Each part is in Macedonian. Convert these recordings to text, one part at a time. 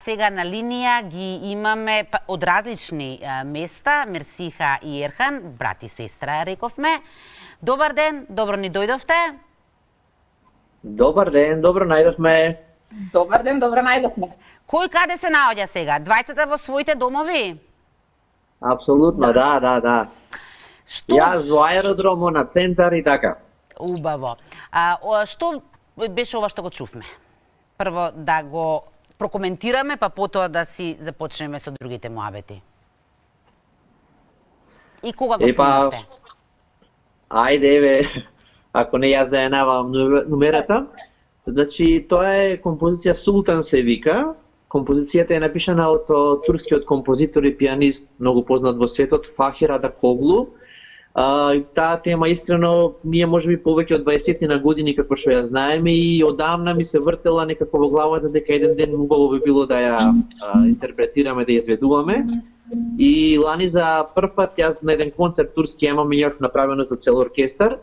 сега на линија ги имаме од различни места, Мерсиха и Ерхан, брат и сестра, рековме. Добар ден, добро ни дојдовте. Добар ден, добро најдовме. Добар ден, добро најдовме. Кој каде се наоѓа сега? Двајцата во своите домови? Апсолутно, да. Што? Јас во аеродромо на центар и така. Убаво. Што беше ова што го чувме? Прво да го прокоментираме, па потоа да си започнеме со другите муабети. И кога го снимавте? Ајде, еве, ако не јас да ја навам нумерата. Значи, тоа е композиција Султан се вика. Композицијата е напишана од турскиот композитор и пианист, многу познат во светот, Фахир Атакоглу. Таа тема искрено ние можеби повеќе од 20 на години како што ја знаеме и одамна ми се вртела некако во главата дека еден ден убаво би било да ја интерпретираме, да ја изведуваме. И лани за прв пат јас на еден концерт турски имав направено за цел оркестар,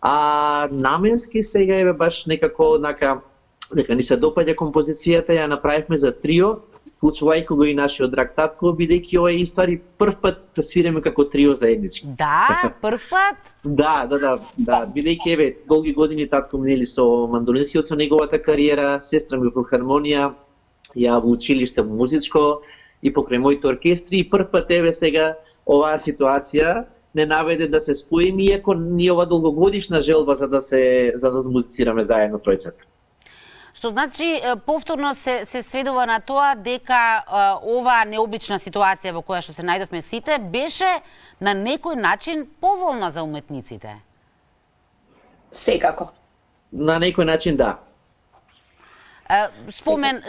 а наменски сега е баш некако дека ни се допаѓа композицијата, ја направивме за трио, вклучувајќи го и нашиот драг татко, бидејќи ова е истори прв пат да свиреме како трио заеднички. Да, прв пат? Да, бидејќи еве долги години татко нели со мандолинскиот, со неговата кариера, сестра ми во филхармонија, ја во училиште музичко и покрај моите оркестри, и прв пат еве сега оваа ситуација не наведе да се споиме, иако ни ова долгогодишна желба за да музицираме заедно тројцата. Што значи повторно се сведува на тоа дека оваа необична ситуација во која што се најдовме сите беше на некој начин поволна за уметниците. Секако. На некој начин да.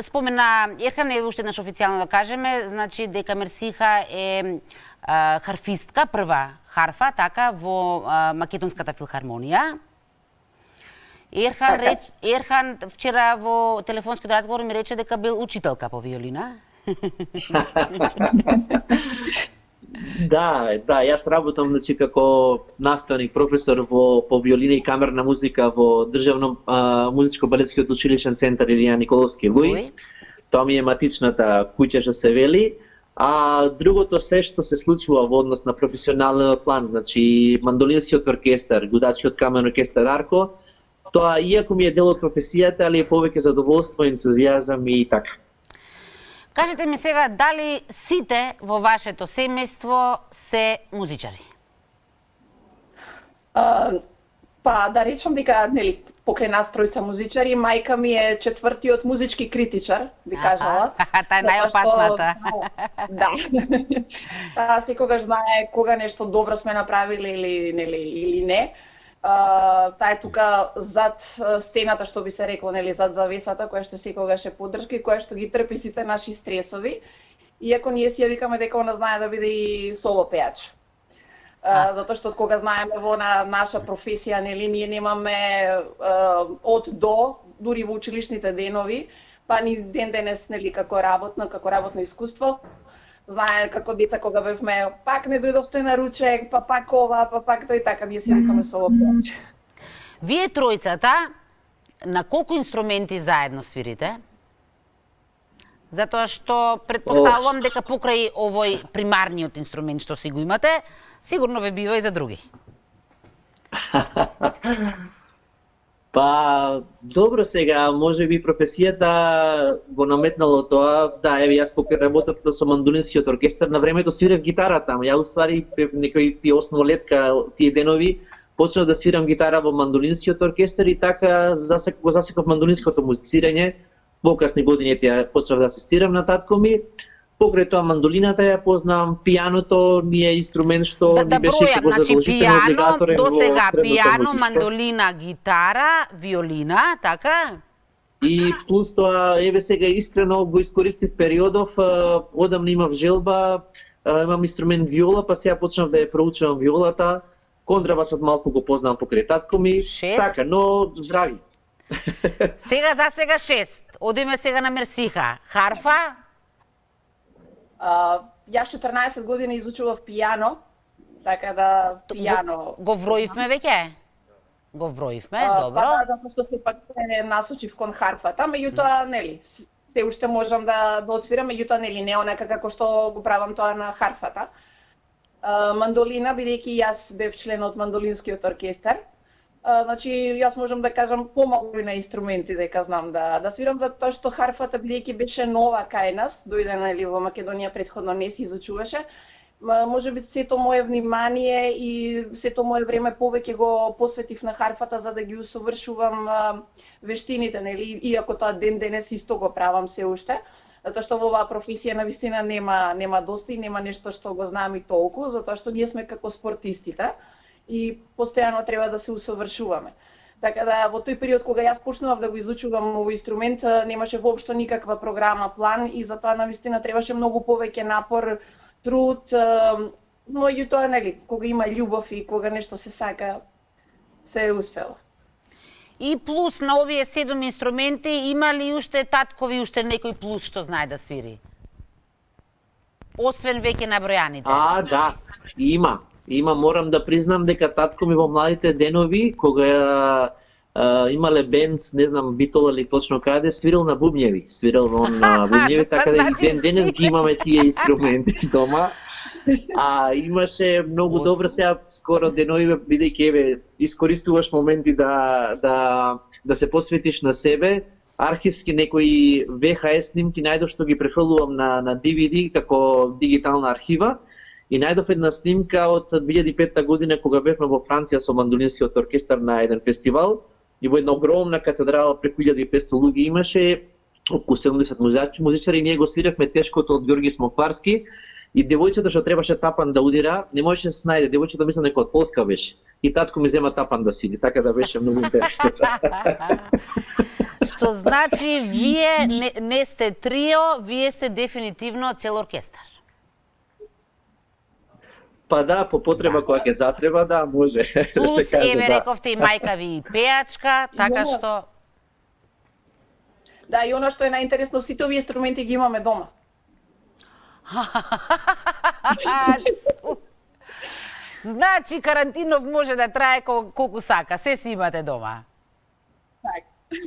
Спомена Ерхан, е уште еднаш официјално да кажеме, значи дека Мерсиха е харфистка, прва харфа, така, во Македонската филхармонија. Ерхан вчера во телефонскиот разговор ми рече дека бил учителка по виолина. Да, јас работам значи како наставник, професор по виолина и камерна музика во Државно музичко-балетскиот училишен центар Илија Николовски Луј. Тоа ми е матичната куќа што се вели. А другото се што се случува во однос на професионален план, значи мандолинскиот оркестар, гудачкиот камерен оркестар Арко, тоа иако ми е дел од професијата, али е повеќе задоволство, ентузијазам и така. Кажете ми сега, дали сите во вашето семејство се музичари? Па да речам дека нели покрај нас тројца музичари, мајка ми е четвртиот музички критичар, би кажала. Таа е најопасната. Да. Таа секогаш знае кога нешто добро сме направиле или не. Таа е тука зад сцената, што би се рекло, нели, зад завесата, која што секогаш е поддршка и која што ги трпи сите наши стресови. Иако ние си ја викаме дека она знае да биде и соло пеач. Затоа што од кога знаеме во наша професија, нели, ние немаме од до, дури во училишните денови, па ни ден денес, нели, како работно искуство. Знае како деца кога бевме, пак не дојдовте на ручек, па пак ова, па пак тој, така ние си викаме соло пеач. Вие тројцата на колку инструменти заедно свирите? Затоа што предпоставувам дека покрај овој примарниот инструмент што си го имате, сигурно ве бива и за други. Па, добро сега, може би професијата го наметнало тоа, да, еве јас покрај работата со мандолинскиот оркестар на времето свирев гитара таму. Ја уствари некој тие основолетка, тие денови, почнав да свирам гитара во мандолинскиот оркестар и така го засеков мандолинското музицирање. Покасни години почнав да асистирам на татко ми. Покрај тоа мандолината ја познавам, пијаното ни е инструмент што ни беше како задолжително облигаторен во сега средната пијано, музика. мандолина, гитара, виолина, така? И плюс тоа, еве сега искрено го искористив периодов, одамна имав желба, имам инструмент виола, па сега почнав да ја проучувам виолата. Контрабасот малку го познавам покрај татко ми, така, но здрави. Сега за сега 6. Одиме сега на Мерсиха. Харфа? Јас 14 години изучував пијано, така да пијано... Го вброивме веќе? Го вброивме, добро. Па да, затоа што се пак се насочив кон харфата, меѓутоа, нели, се уште можам да отсвирам, меѓутоа нели не онака како што го правам тоа на харфата. Мандолина, бидејќи јас бев член од мандолинскиот оркестар, значи јас можам да кажам помалку на инструменти дека знам да свирам, затоа што харфата бидејќи беше нова кај нас, дојде нели во Македонија претходно не се изучуваше. Може би сето мое внимание и сето мое време повеќе го посветив на харфата за да ги усовршувам вештините, нели, иако тоа ден денес исто го правам се уште. Затоа што во оваа професија навистина нема доста и нема нешто што го знам и толку, затоа што ние сме како спортистите и постојано треба да се усовршуваме. Така да во тој период кога јас почнував да го изучувам овој инструмент, немаше воопшто никаква програма, план и затоа навистина требаше многу повеќе напор, труд, но и тоа нели, кога има љубов и кога нешто се сака, се е успело. И плюс на овие 7 инструменти, има ли уште таткови уште некој плюс што знае да свири? Освен веќе набројаните. Да, има. Морам да признам дека татко ми во младите денови, кога имале бенд, не знам битола ли точно каде, свирил на бубњеви. Свирил он на бубњеви, така да и денес ги имаме тие инструменти дома. Имаше многу добро сега скоро денови, бидејќи еве искористуваш моменти да се посветиш на себе, архивски некои VHS снимки најдов што ги префрлувам на DVD како дигитална архива и најдов една снимка од 2005 година кога бевме во Франција со мандолинскиот оркестар на еден фестивал и во една огромна катедрала преку 1500 луѓе имаше околу 70 музичари и ние го свиревме тешкото од Ѓорги Смокварски. И девојчето што требаше тапан да удира, не можеше да се најде. Девојчето мислам дека од Полска беше. И татко ми зема тапан да свири, така да беше многу интересно. Што значи вие не сте трио, вие сте дефинитивно цел оркестар. Па да, по потреба кога ќе затреба, да, може. Плюс, да се каже, еве рековте и мајка ви пеачка, така што... Да, и она што е најинтересно, сите овие инструменти ги имаме дома. Значи карантинов може да трае колку сака, се си имате дома.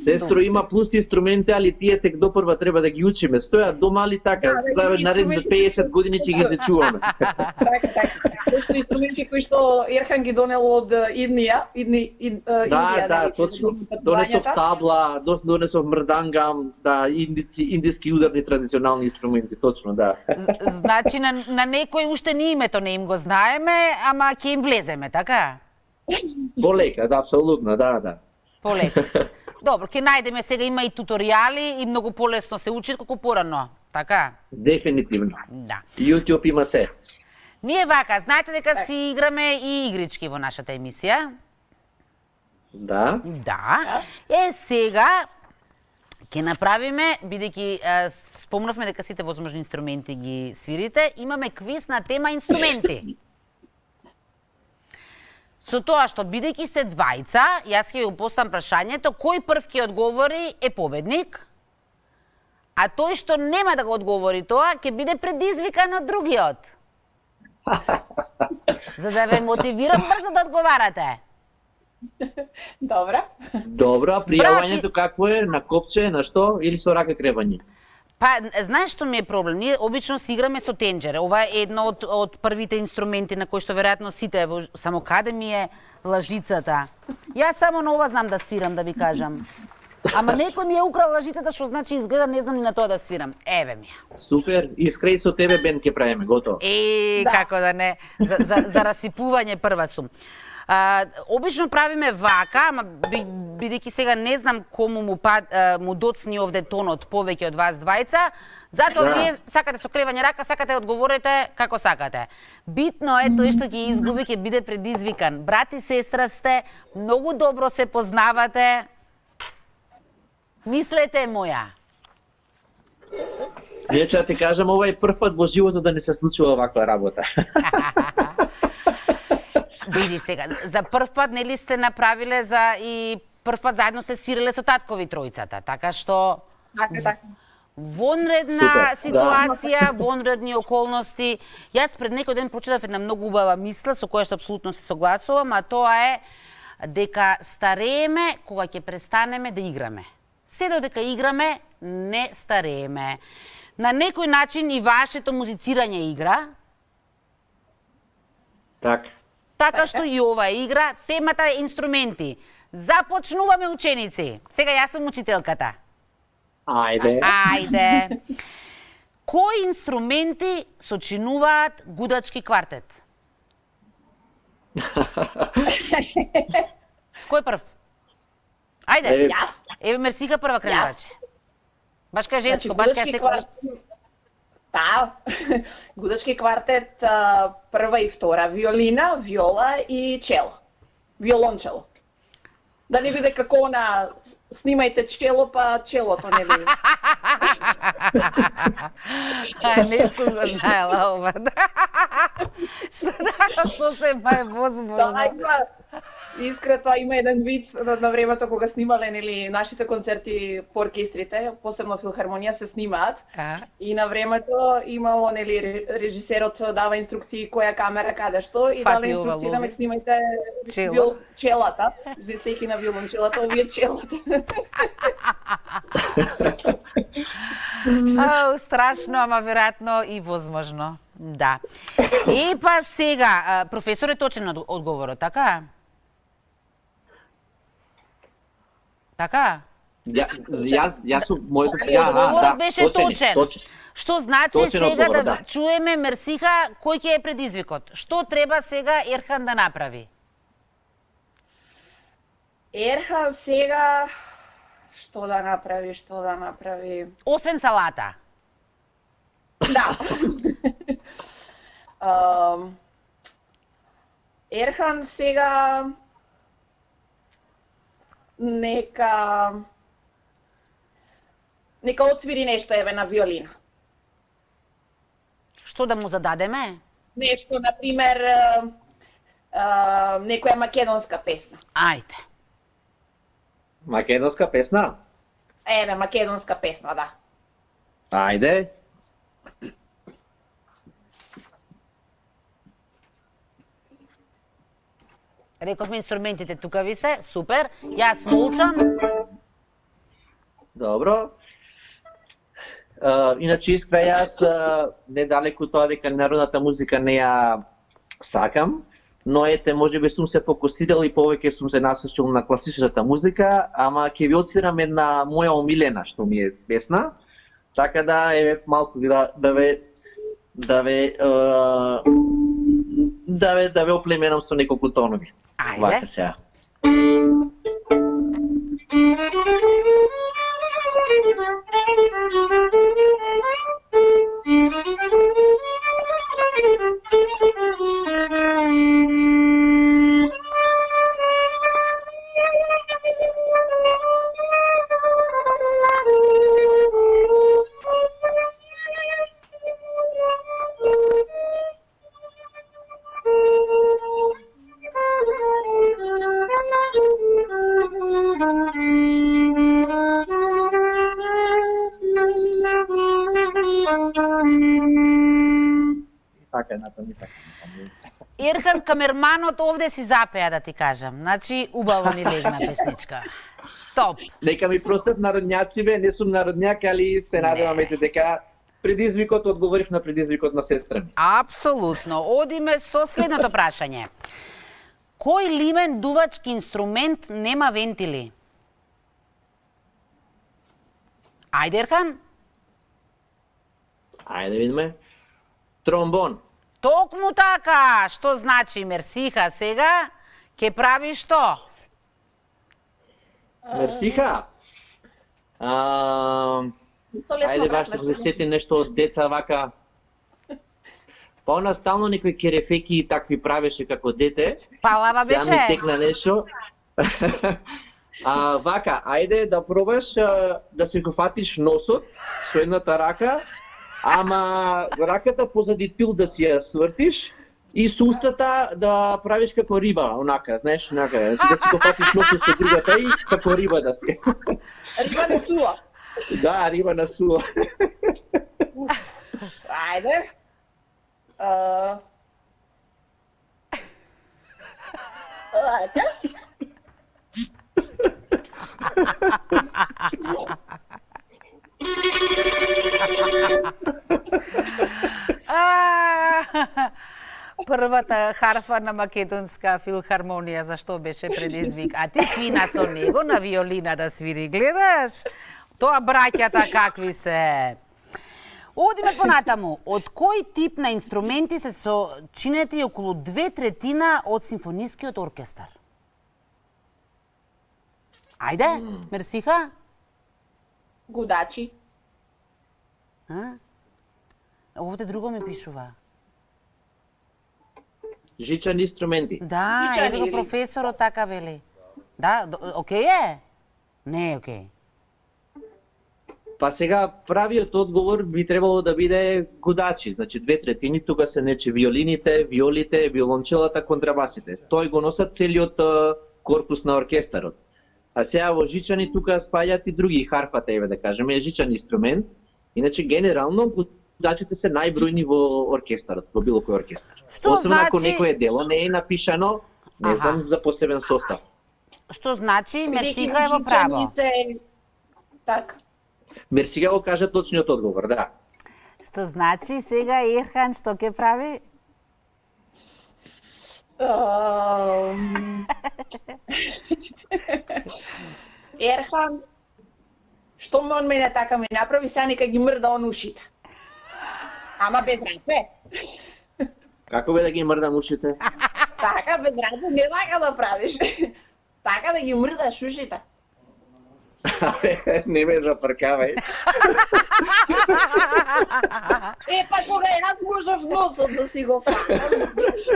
Сестро има плюс инструменти, али тие тек допрва треба да ги учиме. Стојат дома, али така, за наредните 50 години ќе ги зачуваме. Така. Тоа се инструменти кои што Ерхан ги донел од Индија. Да, точно. Донесов табла, донесов мрдангам, да, индиски ударни традиционални инструменти, точно, да. Значи на некој уште ни името не им го знаеме, ама ќе им влеземе, така? Полека, да, апсолутно, да. Полека. Добро, ќе најдеме, сега има и туторијали и многу полесно се учи колку порано, така? Дефинитивно. Да. YouTube има се. Ние вака, знаете дека си играме и игрички во нашата емисија? Да. Да. Сега ќе направиме, бидејќи спомнавме дека сите возможни инструменти ги свирите, имаме квиз на тема инструменти. Со тоа што бидејќи сте двајца, јас ќе ви поставам прашањето, кој прв ќе одговори е победник, а тој што нема да го одговори тоа, ќе биде предизвикан од другиот. За да ве мотивирам брзо да одговарате. Добро, а пријавањето како е? На копче, на што? Или со рака кревање? Па, знаеш што ми е проблем? Ние обично си играме со тенџере. Ова е едно од првите инструменти на кои што веројатно сите, само каде ми е лажицата. Јас само на ова знам да свирам, да ви кажам. Ама некој ми е украл лажицата, што значи изгледа не знам ни на тоа да свирам. Еве ми ја. Супер, искра и со тебе бенд ќе правиме, готово. Како да не, за расипување прва сум. Обично правиме вака, ама бидејќи сега не знам кому му доцни овде тонот повеќе од вас двајца, затоа вие сакате со кревање рака, сакате одговорите како сакате. Битно е тој што ќе изгуби, ќе биде предизвикан. Брат и сестра сте, многу добро се познавате. Мислете моја. Ние ќе ти кажам, ова е прв пат во животот да не се случува ваква работа. Види сега, за прв пат нели сте направиле и прв пат заедно сте свириле со таткови тројцата, така што вонредна ситуација, вонредни околности. Јас пред некој ден прочитав една многу убава мисла со која што апсолутно се согласувам, а тоа е дека старееме кога ќе престанеме да играме. се додека играме, не старееме. На некој начин и вашето музицирање игра. Така што и ова игра, темата е инструменти. Започнуваме, ученици. Сега јас сум учителката. Ајде. Кои инструменти сочинуваат гудачки квартет? Кој прв? Ајде. Јас. Еве Мерсиха прва кренуваче. Баш кај женско, баш кај секој. Да, гудачки квартет, прва и втора, виолина, виола и чело. Виолончело. Да не биде како на снимајте чело, па челото не би. Не сум го знаела ова. Сосема е возможно. Да, искрено има еден виц на времето кога снимале нели нашите концерти по оркестрите, посебно филхармонија се снимаат. И на времето имало нели режисерот дава инструкции која камера каде што и дава инструкции да ме снимајте челата, измислејќи на виолончелата, овие челата. Страшно, ама веројатно и возможно. Да. Па сега, професор е точен на одговорот, така? Така? Јас сум моето одговорот беше точен. Што значи сега да чуеме Мерсиха кој ќе е предизвикот? Што треба сега Ерхан да направи? Ерхан сега што да направи? Освен салата. Да. Ерхан сега нека отсвири нешто еве на виолина. Што да му зададеме? Нешто, например, некоја македонска песна. Ајде. Македонска песна? Еве, македонска песна, да. Ајде. Рековме инструментите тука ви се, супер. Јас молчам. Добро. Иначе искра јас недалеку тоа дека народната музика не ја сакам, но ете можеби сум се фокусирал и повеќе сум се насочил на класичната музика, ама ќе ви отсвирам една моја омилена што ми е песна, така да еве малку да ве оплеменам со неколку тонови. Ајде. Вака сега. Ерхан камерманот овде си запеа, да ти кажам. Значи, убаво ни легна песничка. Топ. Нека ми простат народњаци, не сум народњак, али се надевам дека предизвикот одговорив на предизвикот на сестра ми. Апсолутно. Одиме со следното прашање. Кој лимен дувачки инструмент нема вентили? Ајде, Ерхан. Ајде видиме. Тромбон. Токму така. Што значи Мерсиха сега? Ке прави што? Мерсиха. Ајде баш да се сети нешто од деца вака. Па она стално некои керефеки и такви правеше како дете. Палава беше. Сега ми текна нешто. Вака, ајде да пробаш да се го фатиш носот со едната рака, ама раката позади тил да си ја свртиш и со устата да правиш како риба, онака, знаеш, онака, да си го фатиш носот со другата и како риба да си. Риба на суа. Да, риба на суа. Ајде. Ајде. Првата харфа на Македонска филхармонија, зашто беше предизвик? А ти фина со него на виолина да свири, гледаш? Тоа браќата какви се. Одиме понатаму. Од кој тип на инструменти се сочинети околу 2/3 од симфонискиот оркестар? Ајде, Мерсиха? Гудачи. Овде друго ми пишува. Жичани инструменти. Да, Жичани еве го или? професорот така вели. Да, окей е? Не е окей. Па сега правиот одговор би требало да биде гудачи, значи 2/3 тука се нече виолините, виолите, виолончелата, контрабасите. Тој го носат целиот корпус на оркестарот. А сега во жичани тука спаѓаат и други, харфата еве да кажеме, е жичан инструмент. Иначе генерално гудачите се најбројни во оркестарот, во било кој оркестар. Што Освен ако значи- некое дело не е напишано, не знам, за посебен состав. Што значи Мерсиха е во Бидејќи право. жичани се... Так. Мерсига го кажа точниот одговор, да. Што значи сега Ерхан што ќе прави? Ерхан, што он мене така ми направи, сега нека ги мрда он ушите. Ама без раце. Како бе да ги мрдам ушите? Така, без раце не така да правиш. Така да ги мрдаш ушите. Не ме запркавај. Па кога јас можев носот да си го фанам.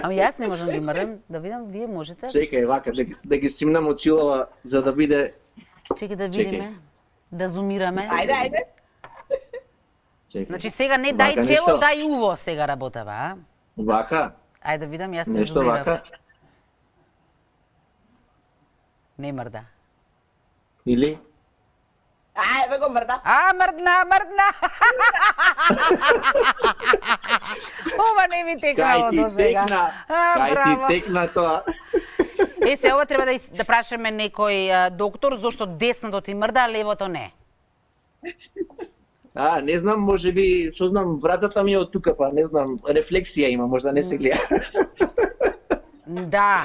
Ами јас не можам да ги мрдам, да видам, вие можете? Чекај, вака, да ги симнам очилава за да биде... Чекај да видиме, да зумираме. Ајде. Чекај. Значи сега не дај Вака чело, нешто? дај уво сега работава, а? Вака? Ајде да видам, јас те Нешто зумирав. вака? Не мрда. Или? Ајде го мрда. А, мрдна! Ова не ми текнало до сега. Кај ти текна тоа. Е, се ова треба да прашаме некој доктор, зошто десното ти мрда, а левото не. Не знам, може би, што знам, вратата ми е од тука, па не знам, рефлексија има, можда не се гледа. Да,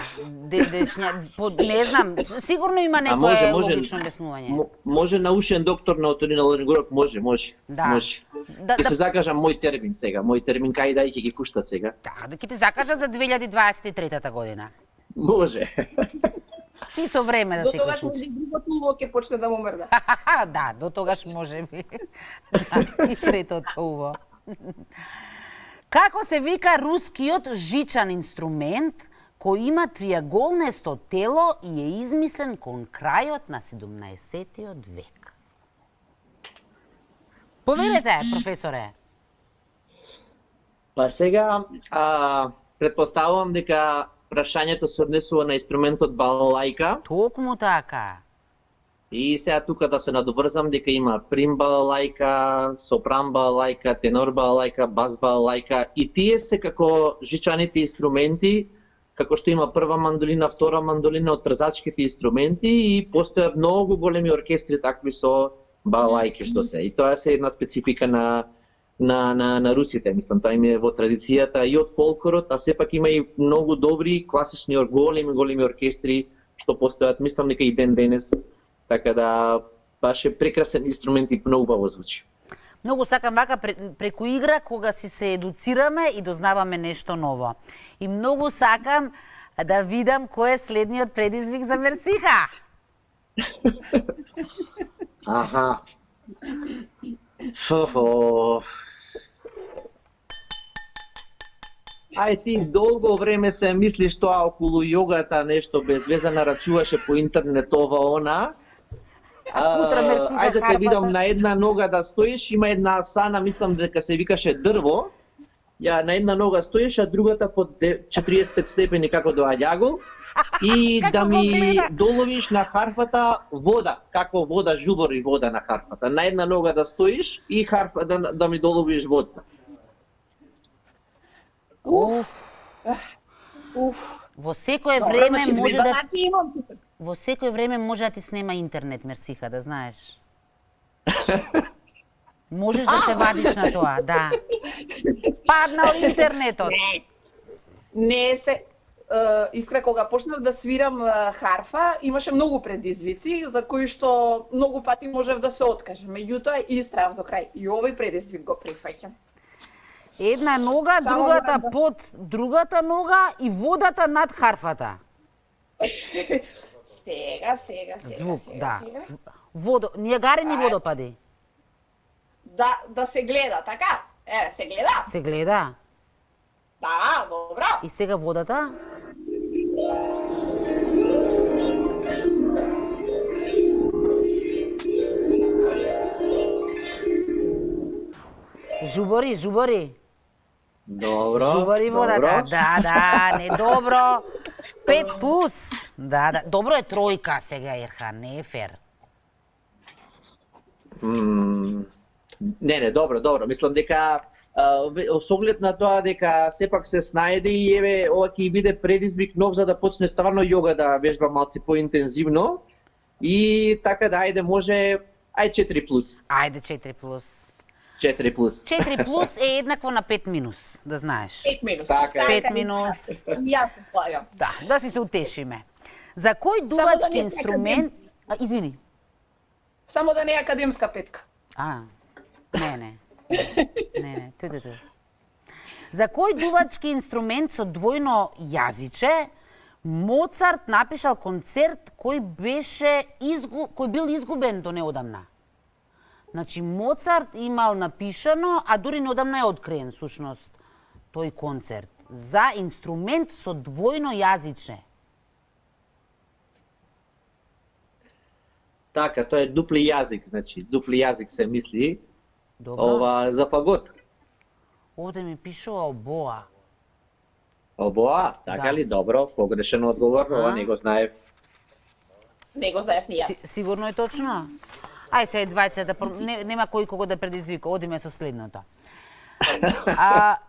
не знам, сигурно има некое логично објаснување. Може наушен доктор на оториноларинголог, може. Да. Може. Ќе се закажам мој термин сега, кај да ќе ги пуштат сега. Да ќе ти закажат за 2023 година. Може. Ти со време да До се го тогаш случи. другото уво ќе почне да му мрда. Да, до тогаш може би. Да, и третото уво. Како се вика рускиот жичан инструмент кој има триаголнесто тело и е измислен кон крајот на 17-тиот век? Повелете, професоре. Па сега, предпоставувам дека прашањето се однесува на инструментот балалајка. Токму така. И сега тука да се надобрзам дека има прим балалајка, сопран балалајка, тенор балалајка, бас балалајка и тие се како жичаните инструменти, како што има прва мандолина, втора мандолина од трзачките инструменти и постојат многу големи оркестри такви со балалајки што се. И тоа се една специфика на русите, мислам, тоа им е во традицијата и од фолклорот, а сепак има и многу добри класични големи оркестри што постојат, мислам дека и ден денес, така да баш е прекрасен инструмент и многу убаво звучи. Многу сакам вака преку игра кога си се едуцираме и дознаваме нешто ново. И многу сакам да видам кој е следниот предизвик за Мерсиха. Аха. Ај ти долго време се мислиш тоа околу јогата, нешто без веза нарачуваше по интернет ова она. Ајде те видам на една нога да стоиш, има една сана, мислам дека се викаше дрво. Ја на една нога стоиш, а другата под 45 степени како до аѓагол. И да ми доловиш на харфата вода, како вода жубори вода на харфата. На една нога да стоиш и харфа да ми доловиш вода. Во секое време може да во секое време може да ти снема интернет, Мерсиха, да знаеш. Можеш да се вадиш на тоа, да. Паднал интернетот. Не се искра кога почнав да свирам харфа, имаше многу предизвици за кои што многу пати можев да се откажам. Меѓутоа истрајав до крај и овој предизвик го прифаќам. Една нога, другата под другата нога и водата над харфата. Сега. Звук, да. Нијагарени водопади. Да се гледа, така? Еве, се гледа? Се гледа. Да, добро. И сега водата? Жубори. Добро. Жубори водата. Да, не добро. 5 плюс. Да. Добро е тројка сега, Ерхан, не е фер. Не, добро. Мислам дека со оглед на тоа дека сепак се снајде и еве ова ќе биде предизвик нов за да почне стварно јога да вежба малце поинтензивно и така да ајде може 4 плюс. Ајде 4 плюс. 4 плюс. 4 плюс е еднакво на 5 минус, да знаеш. 5 минус. Така е. 5 минус. Јас се плајам. Да си се утешиме. За кој дувачки инструмент... Извини. Само да не е академска петка. Не. Ту. За кој дувачки инструмент со двојно јазиче Моцарт напишал концерт кој бил изгубен до неодамна? Значи, Моцарт имал напишано, а дури неодамна е откриен, сушност, тој концерт. За инструмент со двојно јазиче. Така, тоа е дупли јазик, значи, дупли јазик се мисли. Добро. Ова за фагот. Овде ми пишува обоа. Обоа, така Да. ли? Добро, погрешен одговор, ова не го знаев. Не го знаев ни јас. Сигурно е точно? Ај се двајцата, нема кој кого да предизвика, одиме со следното.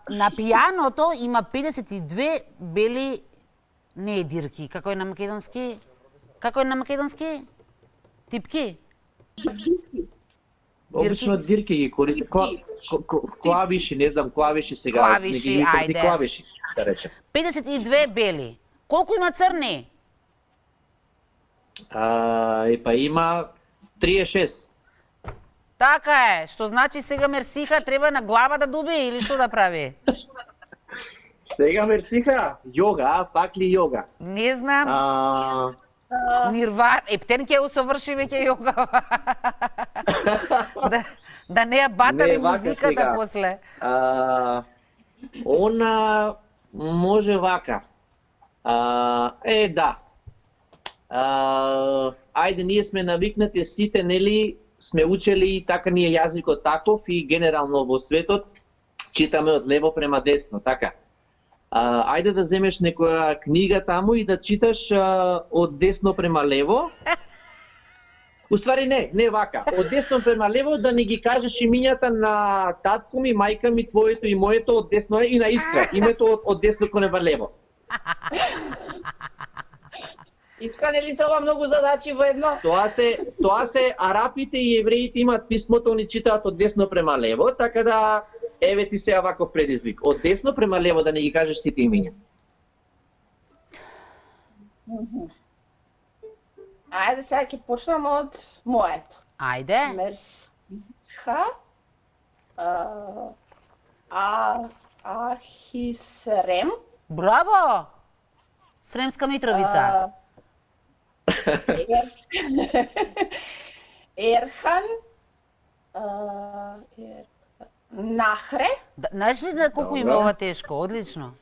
На пијаното има 52 бели, не е дирки, како е на македонски? Типки? Обично дирки ги користи, клавиши, не знам, клавиши сега. Клавиши, ајде. Клавиши, да речем. 52 бели. Колку има црни? Има 36. Така е, што значи сега Мерсиха треба на глава да дуби или што да прави? Сега Мерсиха, јога, пак ли јога? Не знам. Нирвар, птен ќе усоврши веќе јога. Да не ја батали музиката после. Она може вака. Да. Ајде, ние сме навикнати сите, нели, сме учели и така ни е јазикот таков и генерално во светот читаме од лево према десно, така. Ајде да земеш некоја книга таму и да читаш од десно према лево. Уствари не вака. Од десно према лево да не ги кажеш имињата на татко ми, мајка ми, твоето и моето од десно и на Искра. Името од десно кон лево. Искра, нели се ова многу задачи во едно? Тоа се арапите и евреите имаат писмото, они читаат од десно према лево, така да еве ти се ваков предизвик. Од десно према лево да не ги кажеш сите имиња. Ајде сега ќе почнам од моето. Ајде. Мерсиха. Ахисрем. Браво! Сремска Митровица. Ерхан. Нахре. Знаеш ли на колку има ова тешко? Одлично.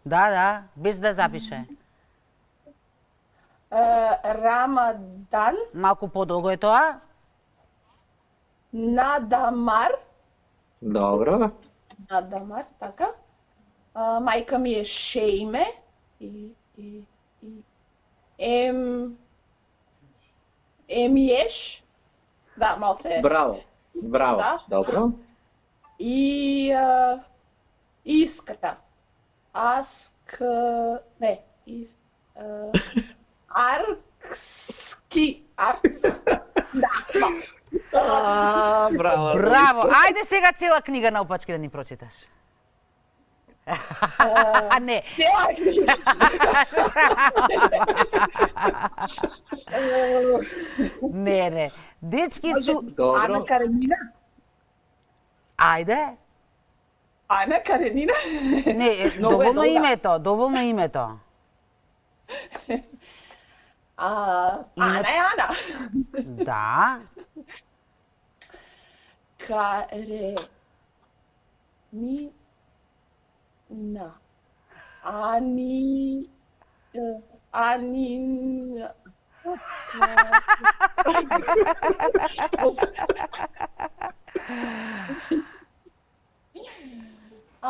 Да, без да запише. Рамадан. Малку подолго е тоа. Надамар. Добро. Надамар, така. Мајка ми е Шејме. Емиеш. Да, малце. Браво. Да. Добро. И Искра. Аркски. Да. Браво. Браво. Ајде сега цела книга наопачки да ни прочиташ. Не. Цела книга. Не. Дечки су... Ана Каренина? Ајде. Ана Каренина? Не, доволно името. Ана е Ана. Да. Каренина. Анина.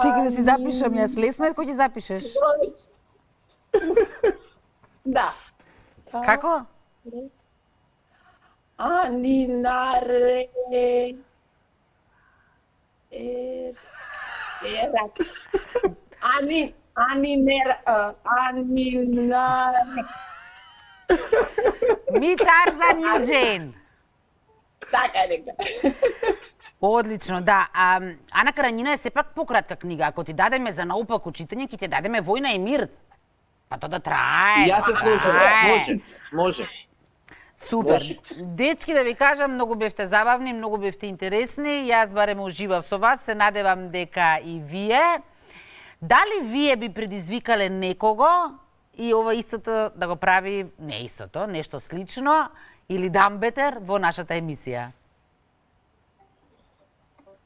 Чекай да си запишам јас. Лесно е кој ќе запишеш. Да. Како? Анинаре. Анинаре. Ми Тарзан Јуџен. Така е нека. Одлично, да. Ана Каренина е сепак пократка книга. Ако ти дадеме за наопаку читање, ќе ти дадеме Војна и мир. Па тоа да трае. Јас се слушам. Може. Супер. Дечки, да ви кажам, многу бевте забавни, многу бевте интересни. Јас барем уживав со вас, се надевам дека и вие. Дали вие би предизвикале некого и ова истото да го прави, не истото, нешто слично, или дамбетер во нашата емисија?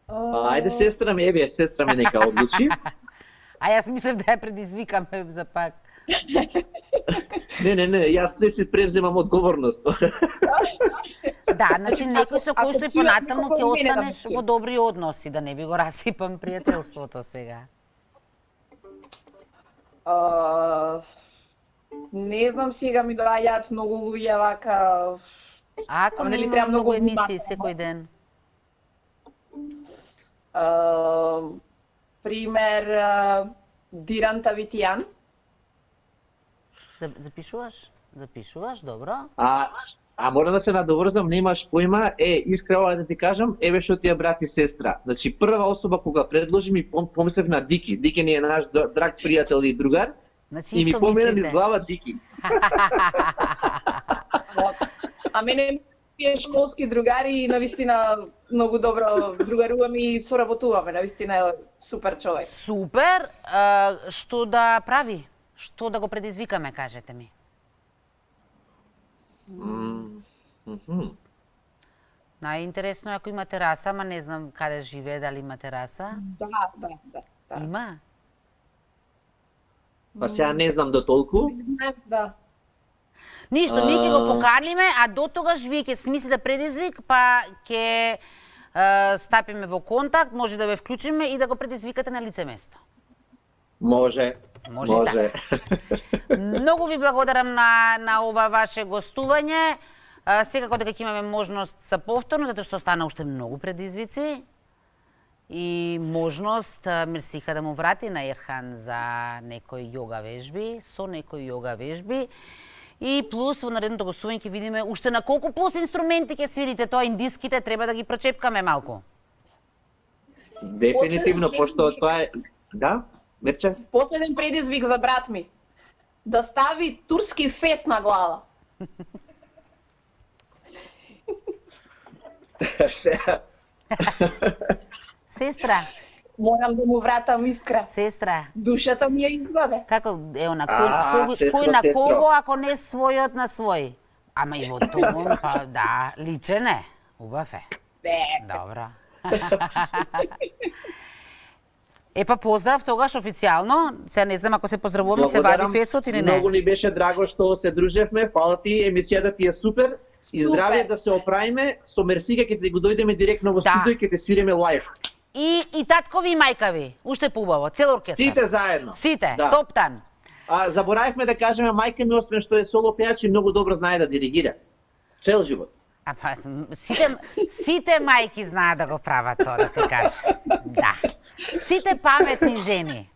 Ајде, сестра ме нека одлучи. А јас мислев да ја предизвикаме за пак. Не, јас не си превземам одговорност. Да, значи некој со кој што и понатаму ќе останеш во добри односи, да не би го расипам пријателството сега. Не знам, сега ми доаѓаат многу луѓе вака. Ако не има многу емисии секој ден. Пример, Диран Тавитијан. Запишуваш, добро. А мора да се надоврзам, немаш појма, искрено да ти кажам, еве што ти ја брат и сестра. Значи прва особа кога предложи ми помислев на Дики. Дики ни е наш драг пријател и другар. Значи, и ми помина низ глава Дики. А мене е школски другари и навистина многу добро другаруваме и соработуваме, навистина е супер човек. Супер, што да прави? Што да го предизвикаме, кажете ми? Најинтересно е ако има тераса, ама не знам каде живее, дали има тераса? Да. Има? Па сега не знам до толку. Не знам, да. Ништо, ние ќе го поканиме, а до тогаш вие ќе смислите предизвик, па ќе стапиме во контакт, може да ве вклучиме и да го предизвикате на лице место. Може. Така. Многу ви благодарам на ова ваше гостување. Секако дека ќе имаме можност за повторно, затоа што стана уште многу предизвици. И можност Мерсиха да му врати на Ерхан за некои јога вежби, со некои јога вежби. И плюс во наредното гостување ќе видиме уште на колку плюс инструменти ќе свирите, тоа индиските треба да ги прочепкаме малку. Дефинитивно, пошто тоа е... Да? Мерче? Последен предизвик за брат ми. Да стави турски фес на глава. Сестра. Морам да му вратам искра. Сестра. Душата ми ја изваде. Како, на кој на кого, ако не својот на свој? Ама и во тоа, па да, личен е. Убав е. Добро. Епа поздрав тогаш официјално. Сега не знам ако се поздравуваме, се вади фесот или не. Многу ни беше драго што се дружевме. Фала ти, емисијата ти е супер. И здравје да се оправиме. Со Мерсика ќе ти го дојдеме директно во студио и ќе те свириме лајв. И таткови и мајкави. Уште поубаво, цел оркестар. Сите заедно. Сите, да. топтан. Заборавивме да кажеме, мајка ми, освен што е соло пејач, многу добро знае да диригира. Цел живот. Сите мајки знаат да го прават тоа, да ти кажа. Да. Сите паметни жени.